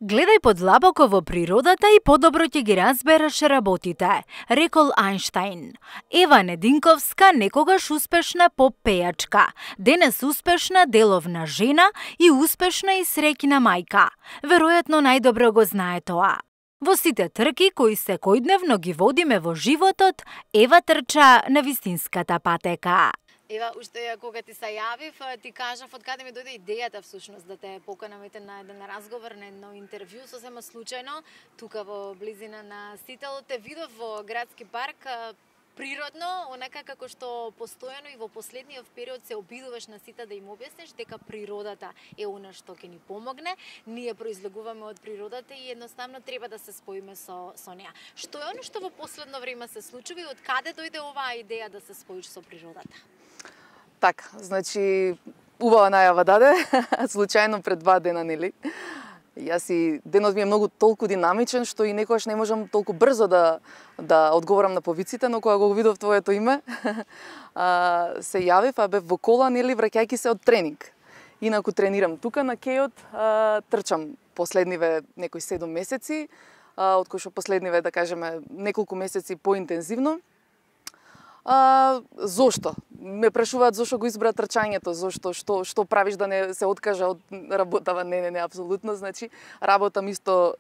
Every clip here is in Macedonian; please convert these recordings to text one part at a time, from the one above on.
Гледај подлабоко во природата и подобро ќе ги разбереш работите, рекол Ајнштајн. Ева Нединковска, некогаш успешна поп-пејачка, денес успешна деловна жена и успешна и среќна мајка. Веројатно најдобро го знае тоа. Во сите трки кои секојдневно ги водиме во животот, Ева трча на вистинската патека. Ева, уште кога ти се јавив, ти кажав од каде ми дојде идејата всушност да те поканам на еден разговор, на едно интервју, сосема случајно, тука во близина на Сител, те видов во градски парк, природно, онака како што постојано и во последниот период се обидуваш на сите да им објасниш дека природата е она што ќе ни помогне, ние произлегуваме од природата и едноставно треба да се споиме со неа. Што е она што во последно време се случува и од каде дојде оваа идеја да се споиш со природата? Така, значи, убава најава даде, случајно пред 2 дена, нели? Јас и денот ми е многу толку динамичен, што и некогаш не можам толку брзо да одговорам на повиците, но кога го видов твоето име, се јавив, бев во кола, нели, враќајќи се од тренинг. Инаку тренирам тука на кејот, трчам последниве некои 7 месеци, од кои што последниве, да кажеме, неколку месеци поинтензивно. Зошто? Ме прашуваат зошто го избра трчањето, зошто, што правиш да не се откажа од работава? Не, апсолутно, значи, работам исто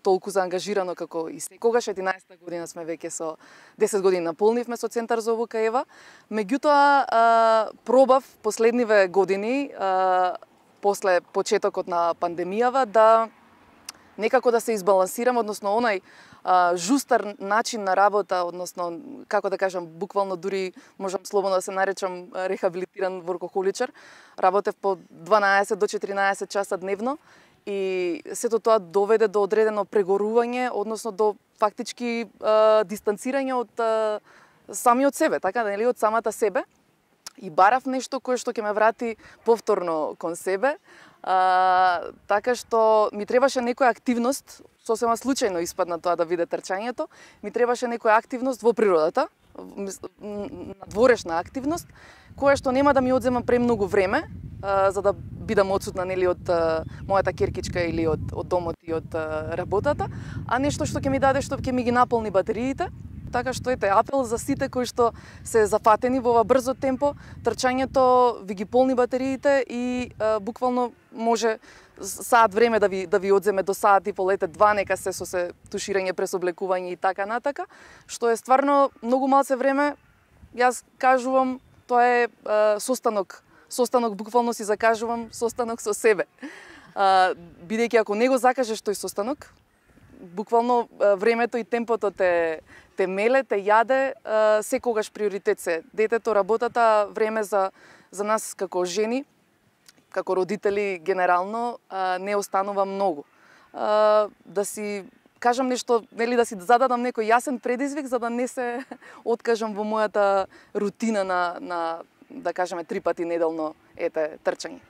толку заангажирано како и секогаш. 11-та година сме веќе со 10 години наполнивме со Центар за обука Ева. Меѓутоа, пробав последниве години, после почетокот на пандемијава, да некако да се избалансирам, односно онај жустар начин на работа, односно, како да кажам, буквално дури можам слободно да се наречам рехабилитиран воркохоличар. Работев по 12 до 14 часа дневно и сето тоа доведе до одредено прегорување, односно до фактички дистанцирање од самиот себе, така, нели, од самата себе. И барав нешто кое што ќе ме врати повторно кон себе, така што ми требаше некоја активност, сосема случајно испадна тоа да биде трчањето, ми требаше некоја активност во природата, надворешна активност, која што нема да ми одзема премногу време, за да бидам отсутна, нели, од мојата керкичка или од домот и од работата, а нешто што ќе ми даде, што ќе ми ги наполни батериите. Така што ете, апел за сите кои што се зафатени во ова брзо темпо, трчањето ви ги полни батериите и буквално може саат време да ви одземе до саат и пол, 2, нека се со се туширање, пресоблекување и така натака, што е стварно многу малце време. Јас кажувам, тоа е состанок буквално си закажувам состанок со себе. Бидејќи ако не го закажеш тој состанок, буквално времето и темпото те меле, те јаде, секогаш приоритет се детето, работата, време за нас како жени, како родители генерално, не останува многу. Да си кажам нешто, нели, да си зададам некој јасен предизвик за да не се откажам во мојата рутина на да кажеме 3 пати неделно трчање.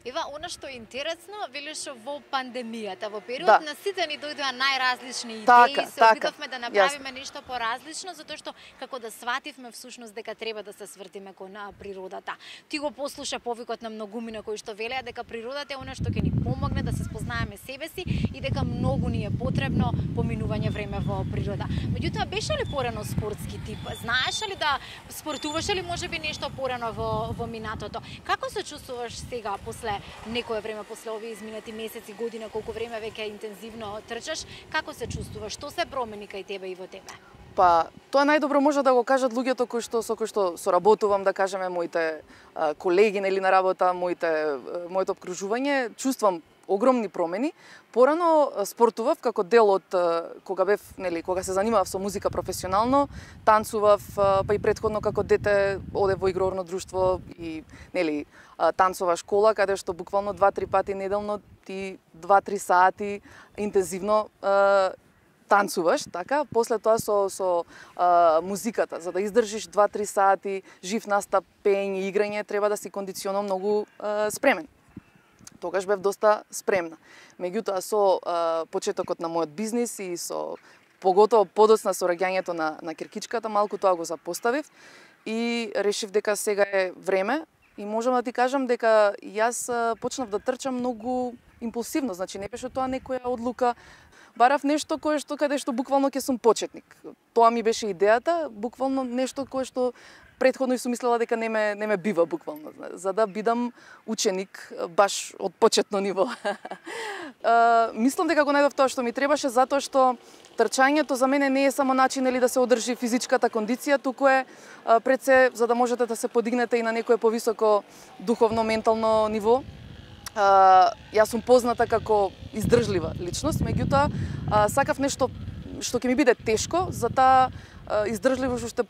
Ева, она што е интересно, велиш во пандемијата, во период на сите ни дојдоа најразлични идеи, се обидовме да направиме нешто поразлично, затоа што како да свативме всушност дека треба да се свртиме кон природата. Ти го послуша повикот на многумина кои што велеа дека природата е она што ќе ни помогне да се спознаеме себе си и дека многу ни е потребно поминување време во природа. Меѓутоа, беше ли порано спортски тип? Знаеше ли да спортуваше ли можеби нешто порано во минатото? Како се чувствуваш сега после некое време, после овие изминати месеци, година, колку време веќе интензивно трчаш, како се чувствуваш? Што се промени кај тебе и во тебе? Па, тоа најдобро може да го кажат луѓето со кои што соработувам, да кажеме, моите колеги, нели, на работа, моето обкружување, чувствам огромни промени. Порано спортував како дел од кога бев, нели, кога се занимавав со музика професионално, танцував, па и претходно како дете одев во игрорно друштво и, нели, танцова школа, каде што буквално 2-3 пати неделно ти 2-3 сати интензивно танцуваш, така, после тоа со музиката, за да издржиш 2-3 сати жив настап, пеење, играње, треба да си кондиционално многу спремен. Тогаш бев доста спремна. Меѓутоа, со почетокот на мојот бизнис и со поготово подоцна со раѓањето на керкичката, малку тоа го запоставив и решив дека сега е време и можам да ти кажам дека јас почнав да трчам многу импулсивно, значи не беше тоа некоја одлука. Барав нешто каде што буквално ќе сум почетник. Тоа ми беше идејата, буквално нешто кое што претходно и сум мислела дека не ме бива буквално, за да бидам ученик баш од почетно ниво. Мислам дека го најдов тоа што ми требаше, затоа што трчањето за мене не е само начин да се одржи физичката кондиција, туку е пред се за да можете да се подигнете и на некое повисоко духовно, ментално ниво. Јас сум позната како издржлива личност, меѓутоа сакав нешто што ќе ми биде тешко, за таа издржливост уште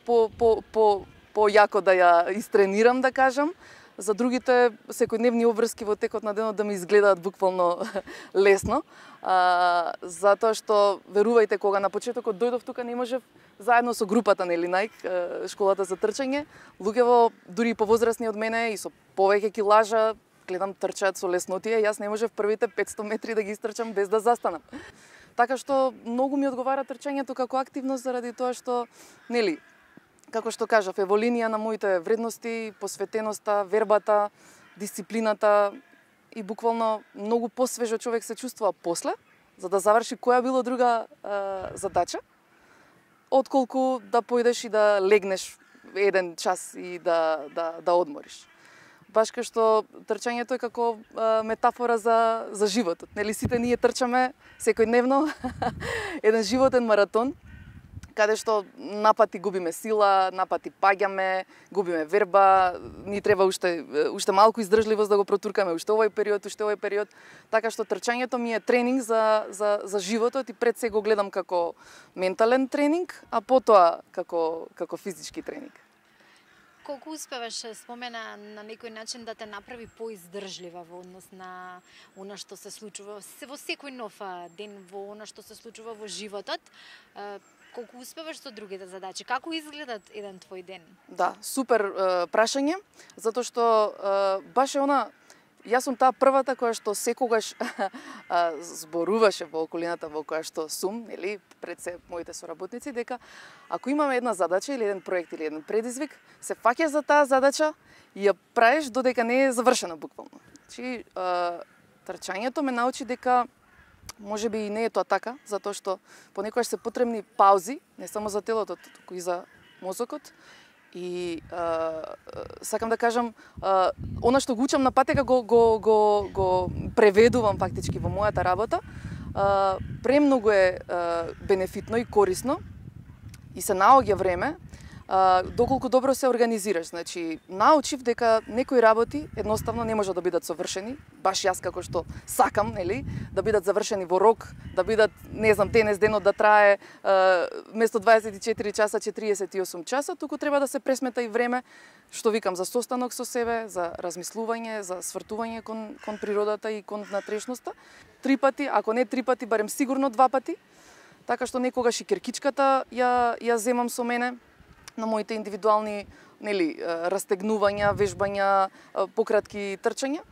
појако да ја истренирам, да кажам, за другите секојдневни обврски во текот на денот да ми изгледаат буквално лесно, затоа што верувајте, кога на почетокот дојдов тука не можев заедно со групата Nike, школата за трчање, луѓето дури и повозрасни од мене и со повеќе килажа, гледам трчаат со леснотија, јас не можев првите 500 метри да ги истрчам без да застанам. Така што многу ми одговара трчањето како активност заради тоа што, како што кажав, е во линија на моите вредности, посветеноста, вербата, дисциплината и буквално многу посвежо човек се чувствува после, за да заврши која било друга задача, отколку да појдеш и да легнеш еден час и да одмориш. Баш кај што трчањето е како метафора за животот. Сите ние трчаме секојдневно еден животен маратон, каде што напати губиме сила, напати паѓаме, губиме верба, ни треба уште малку издржливост да го протуркаме уште овој период, така што трчањето ми е тренинг за животот и пред се го гледам како ментален тренинг, а потоа како физички тренинг. Колку успеваш, спомена на некој начин, да те направи поиздржлива во однос на она што се случува во секој нов ден, во она што се случува во животот? Колку успеваш со другите задачи? Како изгледат еден твој ден? Да, супер прашање, затоа што баш е јас сум таа првата која што секогаш зборуваше во околината во која што сум, пред се моите соработници, дека ако имаме една задача или еден проект или еден предизвик, се фаќаш за таа задача и ја правиш додека не е завршена буквално. Значи, трчањето ме научи дека може би и не е тоа така, затоа што понекогаш се потребни паузи, не само за телото, туку и за мозокот. И сакам да кажам, она што го учам на патека го преведувам фактички во мојата работа. Премногу е бенефитно и корисно и се наоѓа време доколку добро се организираш. Значи, научив дека некои работи едноставно не може да бидат совршени, баш јас како што сакам, да бидат завршени во рок, да бидат, денес денот да трае место 24 часа 48 часа, туку треба да се пресмета и време, што викам, за состанок со себе, за размислување, за свртување кон природата и кон внатрешноста. 3 пати, ако не 3 пати, барем сигурно 2 пати. Така што некогаш и киркичката ја земам со мене на моите индивидуални растегнувања, вежбања, пократки трчања.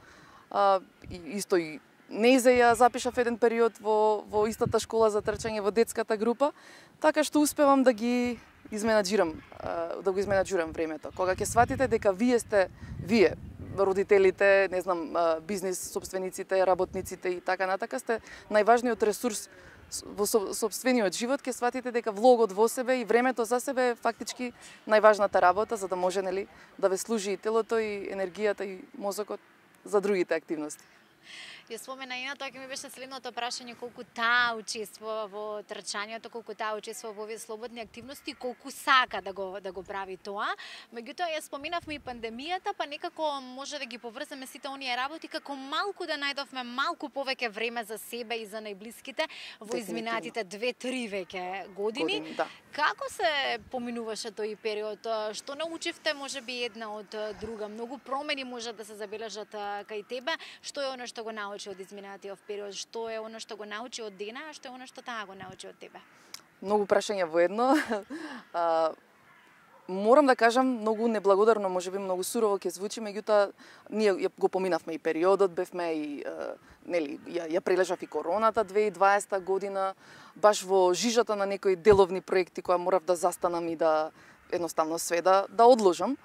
Исто и Неизе ја запишав еден период во истата школа за трчање во детската група, така што успевам да ги изменаџурам времето. Кога ќе сватите дека вие, родителите, бизнис собствениците, работниците и така натака, сте најважниот ресурс во сопствениот живот, ќе сватите дека влогот во себе и времето за себе е фактички најважната работа, за да може да ве служи и телото, и енергијата, и мозокот за другите активности. Ја спомена и на тоа, ќе ми беше следното прашање, колку таа учествува во трчањето, колку таа учествува во овие слободни активности, колку сака да го прави тоа. Меѓутоа ја споминавме и пандемијата, па некако може да ги поврземе сите оние работи како малку да најдовме малку повеќе време за себе и за најблиските во изминатите 2-3 веќе години. Да. Како се поминуваше тој период? Што научивте можеби една од друга? Многу промени може да се забележат кај тебе. Што е оно што го научи од изминатиот период? Што е оно што го научи од Дена, а што е оно што таа го научи од тебе? Многу прашања во едно. Морам да кажам, многу неблагодарно, можеби многу сурово ќе звучи, меѓутоа ние го поминавме и периодот, бевме и ја прележав и короната 2020 година, баш во жижата на некои деловни проекти која морав да застанам и да едноставно све да одложам.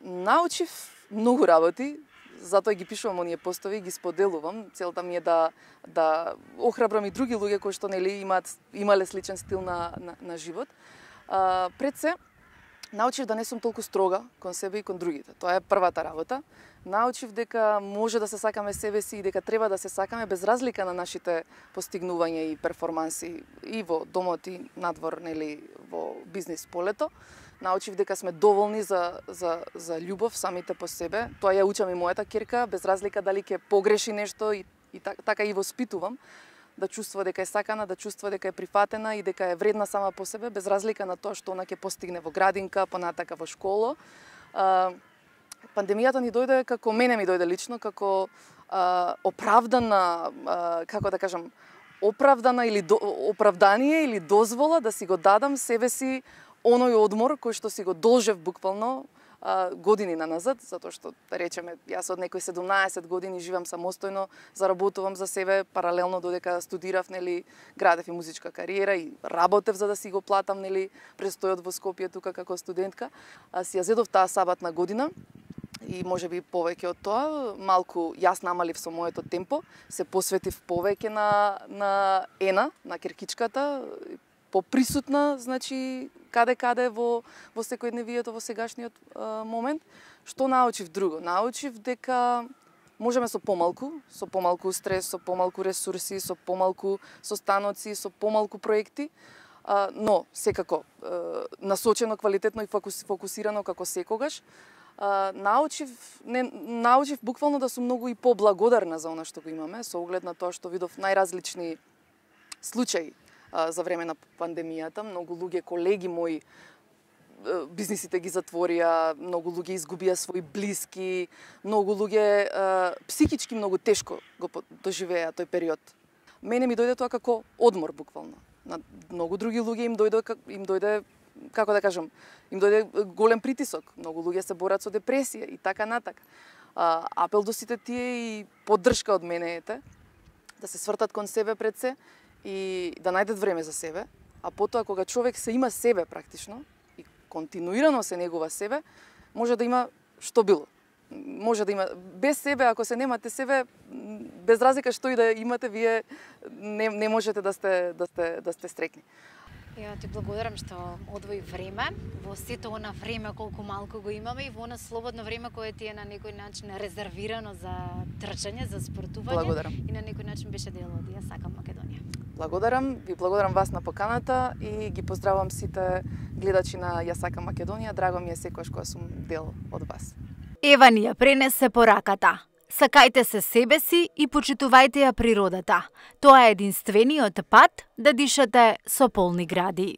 Научив многу работи, затоа ги пишувам оние постови, ги споделувам. Целта ми е да охрабрам и други луѓе кои што нели имале сличен стил на живот. Пред се научив да не сум толку строга кон себе и кон другите. Тоа е првата работа. Научив дека може да се сакаме себе си и дека треба да се сакаме без разлика на нашите постигнувања и перформанси и во домот и надвор, нели, во бизнис полето. Научив дека сме доволни за љубов самите по себе. Тоа ја учам и мојата ќерка, без разлика дали ќе погреши нешто и така и воспитувам. Да чувствува дека е сакана, да чувствува дека е прифатена и дека е вредна сама по себе, без разлика на тоа што она ќе постигне во градинка, понатака во школа. Пандемијата ни дојде, како мене ми дојде лично, како оправдана, како да кажам, оправдана или оправдание или дозвола да си го дадам себе си оној одмор кој што си го должев буквално години назад, затоа што, да речеме, јас од некои 17 години живеам самостојно, заработувам за себе, паралелно додека студирав, нели, градев и музичка кариера и работев за да си го платам, нели, престојот во Скопје тука како студентка. Си ја зедов таа саботна година и можеби повеќе од тоа, малку јас намалив со моето темпо, се посветив повеќе на Ена, на керкичката, поприсутна, значи, каде во секојдневието, во сегашниот момент. Што научив друго? Научив дека можеме со помалку стрес, со помалку ресурси, со помалку состаноци, со помалку проекти, но секако насочено, квалитетно и фокусирано како секогаш. Научив буквално да сум многу и поблагодарна за она што го имаме, со оглед на тоа што видов најразлични случаи за време на пандемијата. Многу луѓе, колеги мои, бизнисите ги затворија, многу луѓе изгубија свои блиски, многу луѓе психички многу тешко го доживеа тој период. Мене ми дојде тоа како одмор буквално. На многу други луѓе им дојде, како да кажам, им дојде голем притисок. Многу луѓе се борат со депресија и така натака. Апел до сите тие и поддршка од мене ете, да се свртат кон себе пред се и да најдат време за себе, а потоа кога човек се има себе практично и континуирано се негува себе, може да има што било. Може да има без себе, ако се немате себе, без разлика што и да имате, вие не можете да сте стрекни. Ја ти благодарам што одвои време, во сето она време колку малку го имаме и во она слободно време кое ти е на некој начин резервирано за трчање, за спортување. Благодарам. И на некој начин беше дел од Ја сакам Македонија. Благодарам, ви благодарам вас на поканата и ги поздравувам сите гледачи на Ја сакам Македонија. Драго ми е секогаш кога сум дел од вас. Ева ни ја пренесе пораката. Сакајте се себе си и почитувајте ја природата. Тоа е единствениот пат да дишате со полни гради.